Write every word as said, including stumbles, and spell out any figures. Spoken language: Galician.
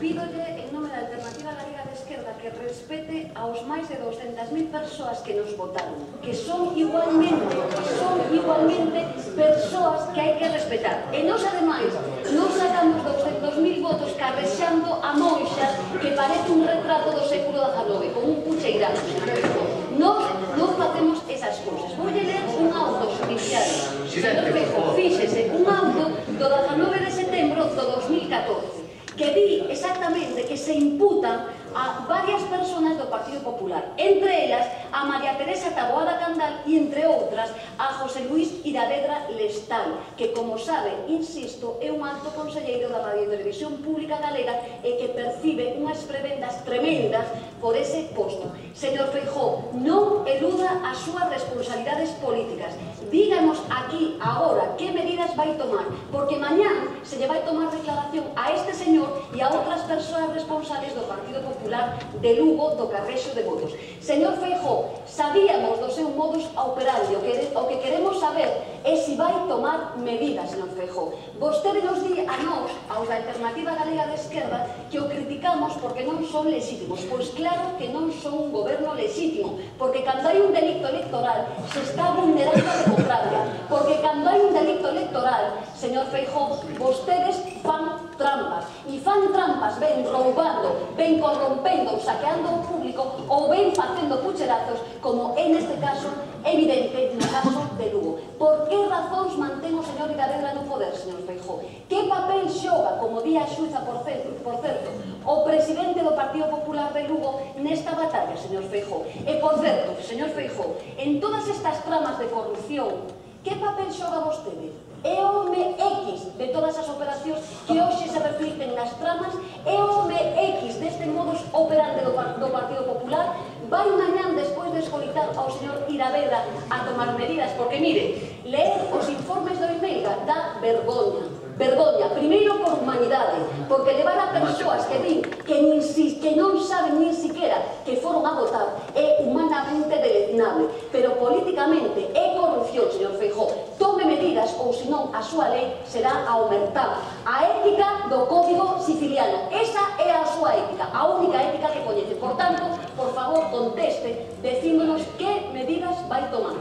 pídolle en nome da Alternativa Galega de Esquerda que respete aos máis de douscentas mil persoas que nos votaron, que son igualmente, son igualmente persoas que hai que respetar. E nos, ademais, non sacamos douscentos mil votos carrexando a monxa que parece un retrato do século dezanove, con un pucheirano. Nos non facemos esas cousas. Vou ler un auto judicial. Señor Feijóo, fíxese, un auto do dezanove de setembro do dos mil catorce, que di exactamente que se imputan a varias personas do Partido Popular, entre elas a María Teresa Taboada Candal e, entre outras, a José Luís Iravedra Lestal, que, como sabe, insisto, é un alto conselleiro da Radio e Televisión Pública Galega e que percibe unhas prebendas tremendas por ese posto. Señor Feijóo, non eluda as súas responsabilidades políticas. Díganos aquí, agora, que medidas vai tomar, porque mañán se lle vai tomar declaración a este señor e a outras persoas responsables do Partido Popular de Lugo do carrexo de votos. Señor Feijóo, sabíamos do seu modus operandi, o que, o que queremos saber é se vai tomar medidas, señor Feijóo. Vostede nos di a nós, aos da Alternativa Galega de Esquerda, que o criticamos porque non son legítimos. Pois claro que non son un goberno legítimo, porque cando hai un delito electoral se está vulnerando a democracia, porque cando hai un delito electoral, señor Feijóo, vostedes fan trampas, e fan trampas ben roubando, ben corrompendo, saqueando o público ou ben facendo pucherazos, como é neste caso evidente no caso de Lugo. Por que razóns mantén o señor Iravedra no poder, señor Feijóo? Que papel xoga, como di a xuiza, por certo, por certo, o presidente do Partido Popular de Lugo nesta batalla, señor Feijóo? E, por certo, señor Feijóo, en todas estas tramas de corrupción, que papel xoga vostede? É o home X de todas as operacións que hoxe se reflicten nas tramas, é o home X deste modus operandi do Partido Popular. Vai mañán, despois de escoitar ao señor Iravedra, a tomar medidas, porque, mire, ler os informes do Imelga dá vergoña. Vergoña, primeiro por humanidade, porque levar a persoas que din que, nin si, que non saben nin siquiera que foron a votar é humanamente deleznable, pero políticamente é corrupción, señor Feijóo. Tome medidas ou senón a súa lei será aumentar a ética do Código Siciliano. Esa é a súa ética, a única ética que coñece. Por tanto, por favor, conteste, decímonos que medidas vai tomar.